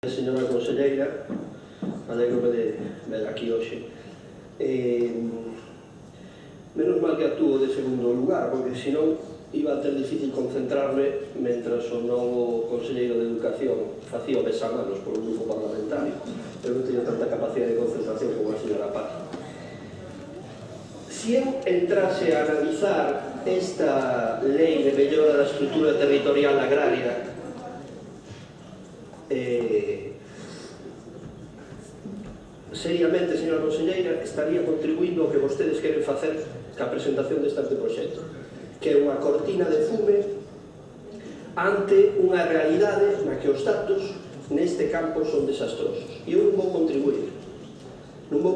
Señora conselleira, alegro de ver aquí hoxe. Menos mal que actúo de segundo lugar, porque senón iba a ter difícil concentrarme mentras o novo conselleiro de Educación facía o besamanos por un grupo parlamentario. Eu non teño tanta capacidade de concentración como a señora Paz. Se eu entrase a analizar esta lei de mellora da estrutura territorial agraria, seriamente, señora conselleira, estaría contribuindo ao que vostedes queren facer ca presentación deste anteproxecto, que é unha cortina de fume ante unha realidade na que os datos neste campo son desastrosos. E eu non vou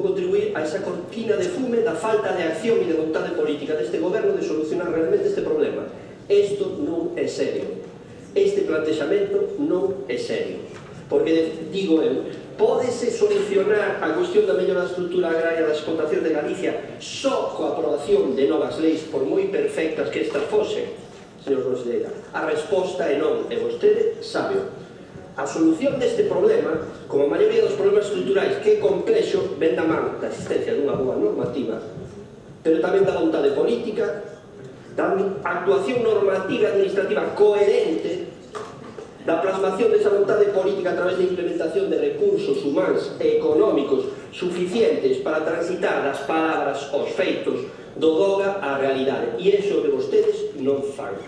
contribuir a esa cortina de fume da falta de acción e de vontade política deste goberno de solucionar realmente este problema. Isto non é serio. Este plantexamento non é serio, porque, digo eu, pódese solucionar a cuestión da mellora da estrutura agraria das explotacións de Galicia só coa aprobación de novas leis, por moi perfectas que estas fosen, señor conselleira? A resposta é non, e vostede sábeo. A solución deste problema, como a maioría dos problemas estruturais, que é complexo, ven da man da existencia dunha boa normativa, pero tamén da vontade política, da actuación normativa e administrativa coherente, da plasmación desa vontade política a través da implementación de recursos humanos e económicos suficientes para transitar das palabras aos feitos, do doga á realidade. E iso que vostedes non fan.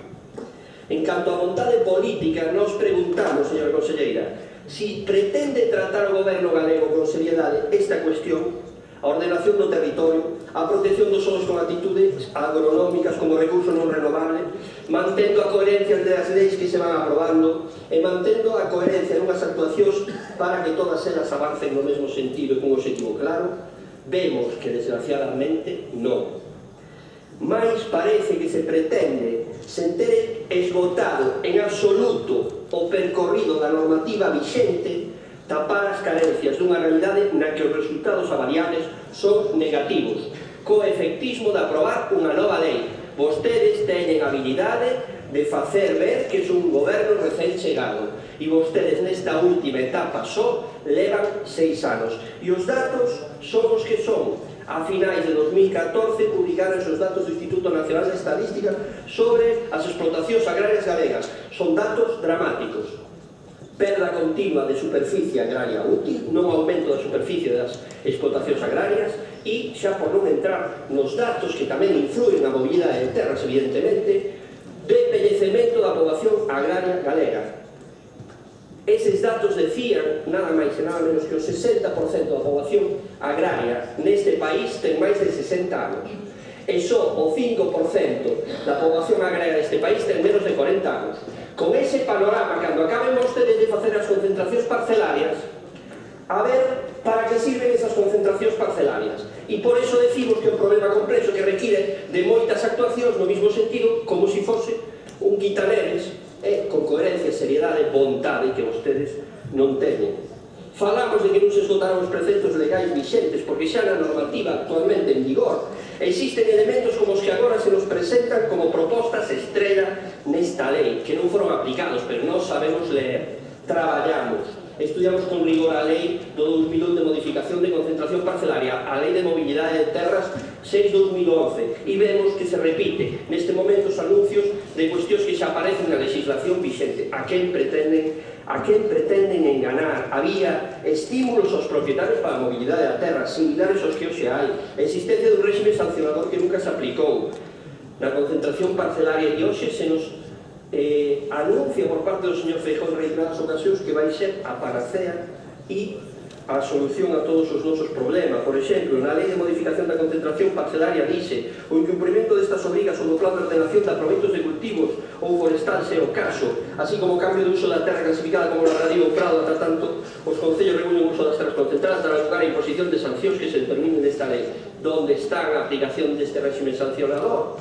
En canto á vontade política, nos preguntamos, señora conselleira, si pretende tratar o goberno galego con seriedade esta cuestión, a ordenación do territorio, a protección dos solos con actitudes agronómicas como recurso non renovable, mantendo a coherencia das leis que se van aprobando e mantendo a coherencia nunhas actuacións para que todas elas avancen no mesmo sentido e con un objetivo claro. Vemos que, desgraciadamente, non. Mais parece que se pretende, sen ter esgotado en absoluto o percorrido da normativa vixente, tapar as carencias dunha realidade na que os resultados avaliables son negativos, co efectismo de aprobar unha nova lei. Vostedes teñen habilidade de facer ver que son un goberno recén chegado, e vostedes nesta última etapa só levan 6 anos, e os datos son os que son. A finais de 2014 publicaron os datos do Instituto Nacional de Estadística sobre as explotacións agrarias galegas. Son datos dramáticos. Perda continua de superficie agraria útil, non aumento da superficie das explotacións agrarias e, xa por non entrar nos datos que tamén influen na mobilidade de terras, evidentemente, de envellecemento da poboación agraria galega. Eses datos decían nada máis e nada menos que o 60% da poboación agraria neste país ten máis de 60 anos. E só o 5% da poboación agraria deste país ten menos de 40 anos. Con ese panorama, cando acaben vostedes de facer as concentracións parcelarias, a ver para que sirven esas concentracións parcelarias. E por iso decimos que é un problema complexo que require de moitas actuacións no mesmo sentido, como se fose un quitaneves, con coherencia, seriedade e vontade que vostedes non teñen. Falamos de que non se esgotaron os preceptos legais vixentes, porque xa na normativa actualmente en vigor existen elementos como os que agora se nos presentan como propostas estrela nesta lei, que non foron aplicados, pero non sabemos ler. Traballamos, estudiamos con rigor a lei do 2001 de modificación de concentración parcelaria, a lei de mobilidade de terras 6-2011, e vemos que se repite neste momento os anuncios de cuestións que xa aparecen na legislación vixente. A quen pretenden enganar? Había estímulos aos propietarios para a mobilidade da terra, similares aos que hoxe hai, a existencia dun réxime sancionador que nunca se aplicou. Na concentración parcelaria de hoxe se nos anuncia por parte do señor Feijóo en reiteradas ocasións que vai ser a panacea e a solución a todos os nosos problemas. Por exemplo, na lei de modificación da concentración parcelaria dice o incumprimento destas obrigas sobre o plan de ordenación de aproveitos de cultivos ou forestal se o caso, así como o cambio de uso da terra clasificada como labradío ou prado, ata tanto os concellos regulen o uso das terras concentradas, dará lugar a imposición de sancións que se determinen nesta lei. Donde está a aplicación deste réxime sancionador?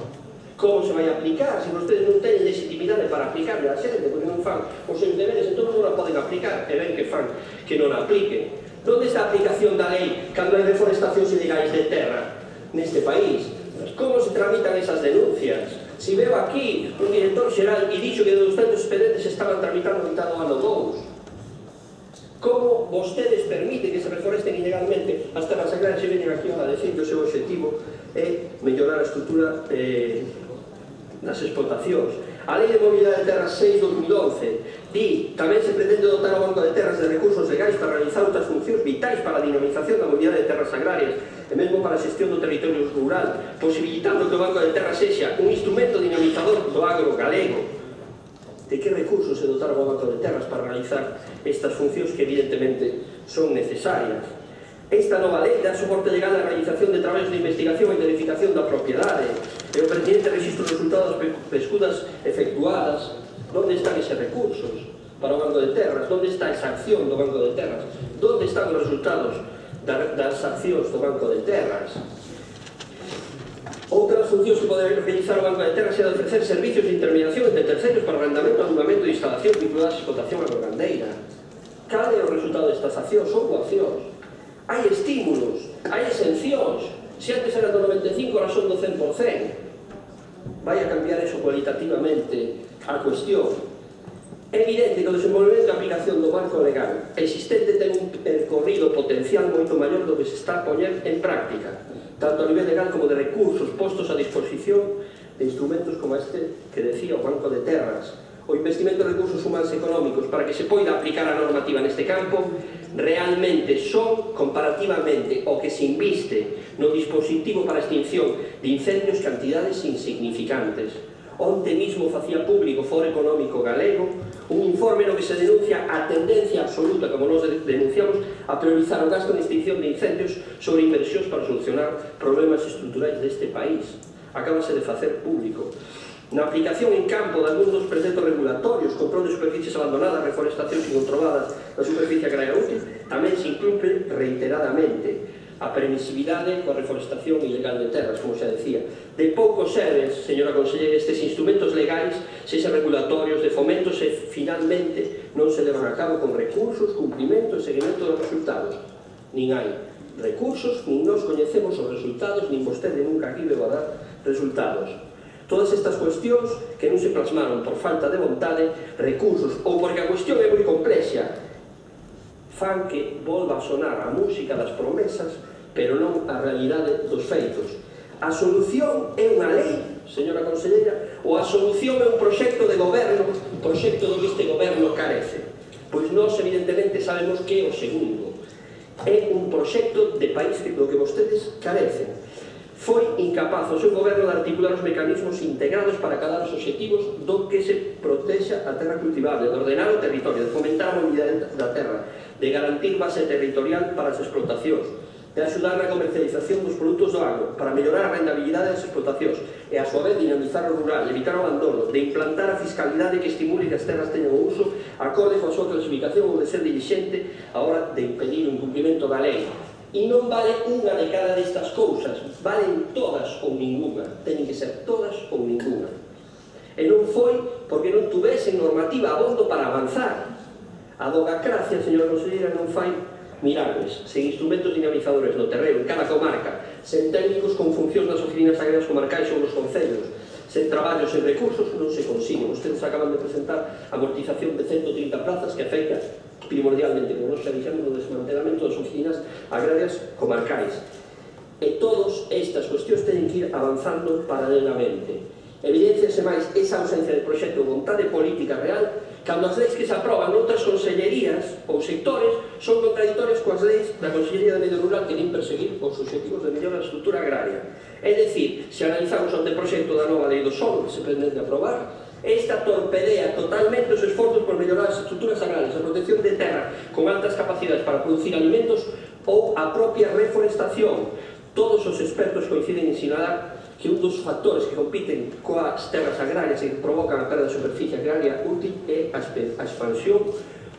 Como se vai aplicar se vostedes non teñen legitimidade para aplicarle a xente, porque non fan os seus deberes, entón non a poden aplicar, e ven que fan que non a apliquen. Onde está a aplicación da lei cando hai deforestacións ilegais de terra neste país? Como se tramitan esas denuncias? Si veo aquí un director xeral e dixo que de 200 expedientes estaban tramitando a mitad do ano 2. como vostedes permiten que se reforesten ilegalmente as terras agrarias e veñen aquí a decir que o seu objetivo é mellorar a estrutura das explotacións. A Lei de Mobilidade de Terras 6/2011 di tamén se pretende dotar ao Banco de Terras de recursos legais para realizar outras funcións vitais para a dinamización da mobilidade de terras agrarias e mesmo para a xestión do territorio rural, posibilitando que o Banco de Terras sexa un instrumento dinamizador do agro galego. De que recursos se dotaron ao Banco de Terras para realizar estas funcións que evidentemente son necesarias? Esta nova lei dá soporte legal á realización de traballos de investigación e verificación da propiedade e o pertinente registro de resultados pescudas efectuadas. Onde están eses recursos para o Banco de Terras? Onde está esa acción do Banco de Terras? Onde están os resultados das accións do Banco de Terras? Outras funcións que pode realizar o Banco de Terras é de ofrecer servicios de intermediación entre terceiros para arrendamento, arrendamento e instalación vinculadas á explotación agrogandeira. Cal é o resultado destas accións ou coaccións? Hai estímulos, hai exencións. Se antes era do 95, ahora son do 100%. Vai a cambiar eso cualitativamente a cuestión. É evidente que o desenvolvemento e a aplicación do marco legal existente ten un percorrido potencial moito maior do que se está a poñer en práctica, tanto a nivel legal como de recursos postos a disposición de instrumentos como este que decía o Banco de Terras. O investimento de recursos humanos e económicos para que se poida aplicar a normativa neste campo realmente son, comparativamente, o que se inviste no dispositivo para a extinción de incendios cantidades insignificantes. Onte mismo facía público o Foro Económico Galego un informe no que se denuncia a tendencia absoluta, como nos denunciamos, a priorizar o gasto en extinción de incendios sobre inversións para solucionar problemas estruturais deste país. Acábase de facer público. Na aplicación en campo de algúns dos preceptos regulatorios, control de superficies abandonadas, reforestacións incontroladas da superficie agraria útil, tamén se incumple reiteradamente a permisividade coa reforestación ilegal de terras, como xa decía. De pouco serven, señora conselleira, estes instrumentos legais, sexan regulatorios de fomento, se finalmente non se levan a cabo con recursos, cumprimento e seguimento dos resultados. Nin hai recursos, nin nos coñecemos os resultados, nin vostede nunca aquí leva a dar resultados. Todas estas cuestións que non se plasmaron por falta de vontade, recursos ou porque a cuestión é moi complexa, fan que volva a sonar a música das promesas, pero non a realidade dos feitos. A solución é unha lei, señora conselleira, ou a solución é un proxecto de goberno, un proxecto do que este goberno carece? Pois nós, evidentemente, sabemos que é o segundo. É un proxecto de país do que vostedes carecen. Foi incapaz o seu goberno de articular os mecanismos integrados para acadar os obxectivos do que se protexa a terra cultivable, de ordenar o territorio, de fomentar a mobilidade da terra, de garantir base territorial para as explotacións, de axudar na comercialización dos produtos do agro, para mellorar a rendabilidade das explotacións e, a súa vez, dinamizar o rural, evitar o abandono, de implantar a fiscalidade que estimule que as terras teñan o uso acorde coa súa clasificación ou de ser dirixente a hora de impedir o incumprimento da lei. E non vale unha de cada destas cousas, valen todas ou ninguna, teñen que ser todas ou ninguna. E non foi porque non tuvesen normativa abondo para avanzar. A dogacracia, señora conselleira, non fai milagres, sen instrumentos dinamizadores no terreno, en cada comarca, sen técnicos con funcións nas oficinas agrarias comarcais ou nos concellos, sen traballos e recursos non se consigue. Vostedes acaban de presentar a amortización de 130 plazas que afecta primordialmente, como nos xa dixemos, no desmantelamento das oficinas agrarias comarcais. E todas estas cuestións teñen que ir avanzando paralelamente. Evidenciase máis esa ausencia de proxecto de vontade política real cando as leis que se aproban noutras consellerías ou sectores son contradictorias coas leis da Consellería de Medio Rural que nin perseguir os obxectivos de mellora da estrutura agraria. É dicir, se analizamos o anteproxecto da nova lei do solo que se pretende aprobar, esta torpedea totalmente os esforzos por mellorar as estruturas agrarias, a protección de terra con altas capacidades para producir alimentos ou a propia reforestación. Todos os expertos coinciden en sinalar que un dos factores que compiten coas terras agrarias e que provocan a perda de superficie agraria útil é a expansión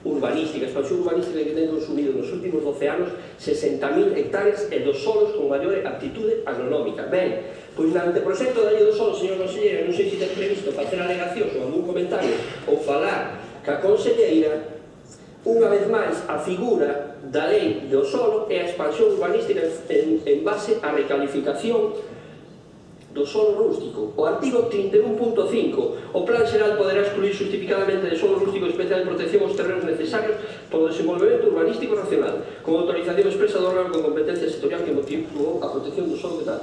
urbanística. A expansión urbanística que ten consumido nos últimos 12 anos 60.000 hectáreas e dos solos con maior aptitude agronómica. Ben, pois no anteproxecto da lei do solo, señor conselleira, non sei se ten previsto facer alegacións ou algún comentario ou falar ca conselleira, unha vez máis a figura da lei do solo é a expansión urbanística en base á recalificación do solo rústico. O artigo 31.5, o Plan Xeral poderá excluir justificadamente de solo rústico especial de protección os terrenos necesarios polo desenvolvemento urbanístico racional, con autorización expresa do órgano con competencia sectorial que motivou a protección do solo de tal.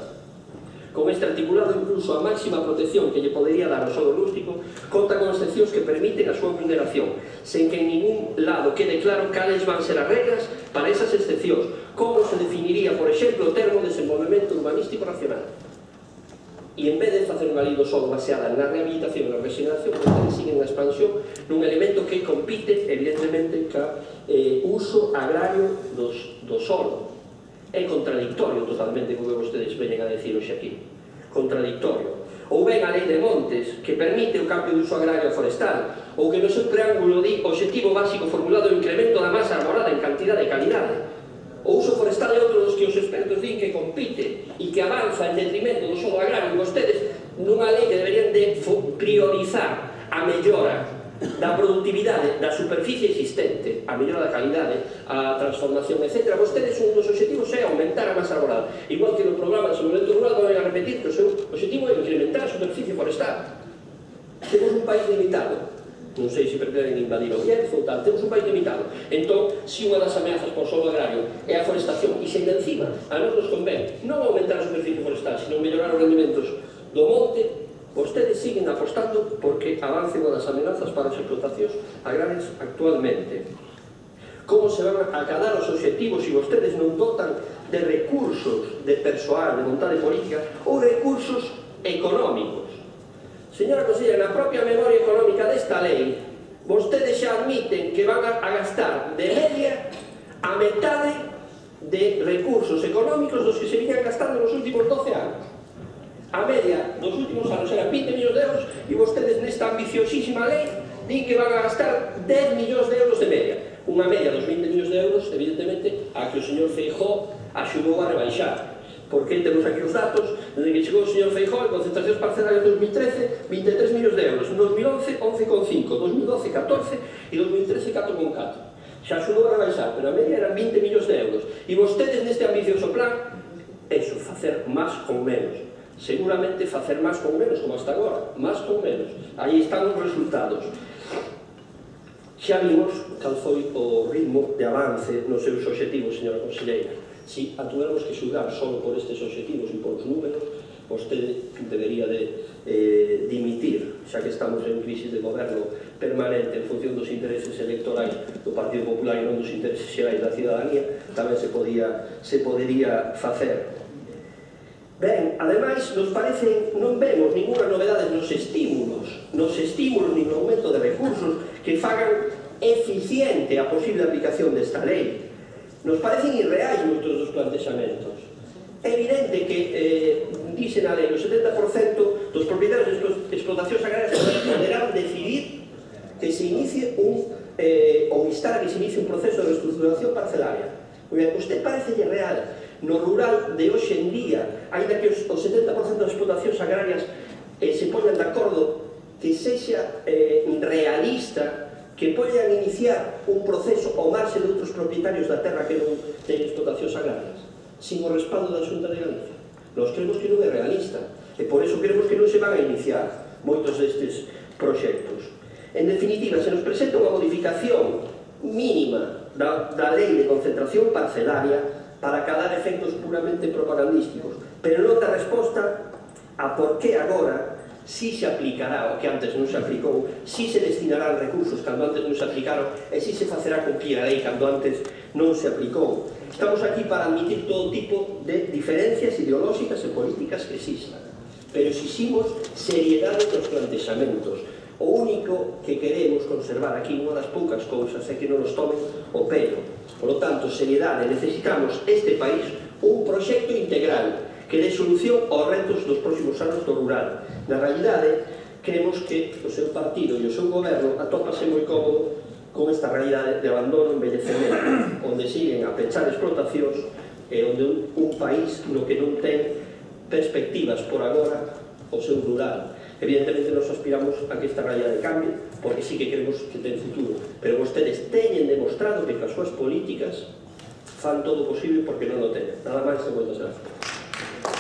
Con este articulado, incluso a máxima protección que lle podería dar ao solo rústico conta con excepcións que permiten a súa vulneración, sen que en ningún lado quede claro cales van ser as regras para esas excepcións, como se definiría, por exemplo, o termo desenvolvemento urbanístico racional. E en vez de facer unha lei do solo baseada na rehabilitación e na regeneración, vostedes siguen a expansión nun elemento que compite, evidentemente, ca uso agrario do solo. É contradictorio totalmente co que vostedes veñen a decir hoxe aquí. Contradictorio. Ou ben a lei de montes, que permite o cambio de uso agrario forestal, ou que no seu preámbulo di objetivo básico formulado o incremento da masa arborada en cantidade e calidade. O uso forestal é outro dos que os expertos din que compite e que avanza en detrimento do solo agrario, e vostedes nunha lei que deberían de priorizar a mellora da productividade da superficie existente, a mellora da calidade, a transformación, etc. Vostedes, un dos obxectivos é aumentar a masa arborada, igual que no programa de desenvolvemento rural van a repetir que o seu obxectivo é incrementar a superficie forestal. Temos un país limitado, non sei se pretenden invadir o Bierzo ou tal, temos un país limitado. Entón, se unha das ameazas por solo agrario é a forestación, e se ainda encima a nós nos convén non aumentar a superficie forestal, sino mellorar os rendimentos do monte, vostedes siguen apostando porque avance unha das amenazas para as explotacións agrarias actualmente. Como se van a acadar os obxectivos se vostedes non dotan de recursos de persoal, de vontade política ou recursos económicos? Señora Consellera, na propia memoria económica desta lei, vostedes xa admiten que van a gastar de media a metade de recursos económicos dos que se viñan gastando nos últimos 12 anos. A media dos últimos anos era 20 millóns de euros e vostedes nesta ambiciosísima lei din que van a gastar 10 millóns de euros de media. Unha media dos 20 millóns de euros, evidentemente, a que o señor Feijóo axudou a rebaixar. Porque temos aquí os datos, desde que chegou o señor Feijóo, en concentracións parcelarias de 2013, 23 millóns de euros. En 2011, 11,5, 2012, 14 e 2013, 4,4. Xa axudou a rebaixar, pero a media eran 20 millóns de euros. E vostedes neste ambicioso plan, eso, facer máis con menos. Seguramente facer máis con menos, como hasta agora, máis con menos. Aí están os resultados. Xa vimos cal foi o ritmo de avance nos seus obxectivos, señora conselleira. Si a tuéramos que xulgar só por estes obxectivos e por os números, vostede debería de dimitir, xa que estamos en crisis de goberno permanente en función dos intereses electorais do Partido Popular e non dos intereses xerais da cidadanía, tamén se podería facer. Ben, ademais, nos parece, non vemos ninguna novedade nos estímulos nin no aumento de recursos que fagan eficiente a posible aplicación desta lei. Nos parecen irreais moitos dos plantexamentos. É evidente que, dice na lei, o 70% dos propietarios de explotacións agrarias poderán decidir que se inicie ou instar a que se inicie un proceso de reestruturación parcelaria. Usted parecelle real no rural de hoxe en día, ainda que o 70% das explotacións agrarias se poñan de acordo, que sexa realista, que poñan iniciar un proceso ao marxe de outros propietarios da terra que non teñen explotacións agrarias, sin o respaldo da Xunta de Galicia. Nós creemos que non é realista, e por eso creemos que non se van a iniciar moitos destes proxectos. En definitiva, se nos presenta unha modificación mínima da lei de concentración parcelaria para acadar efectos puramente propagandísticos, pero non dá resposta a por que agora si se aplicará o que antes non se aplicou, si se destinarán recursos cando antes non se aplicaron e si se facerá cumplir a lei cando antes non se aplicou. Estamos aquí para admitir todo tipo de diferencias ideolóxicas e políticas que existan, pero exiximos seriedade nos plantexamentos. O único que queremos conservar aquí, unha das poucas cousas, é que non nos tomen o pelo. Por lo tanto, seriedade, necesitamos este país un proxecto integral que dé solución aos retos dos próximos anos do rural. Na realidade, creemos que o seu partido e o seu goberno atópase moi cómodo con esta realidade de abandono e envellecemento, onde siguen a pechar explotacións e onde un país no que non ten perspectivas por agora o seu rural. Evidentemente, nos aspiramos a que esta realidade cambie, porque sí que queremos que ten futuro. Pero vostedes teñen demostrado que as súas políticas fan todo o posible porque non o teñen. Nada máis e moitas gracias.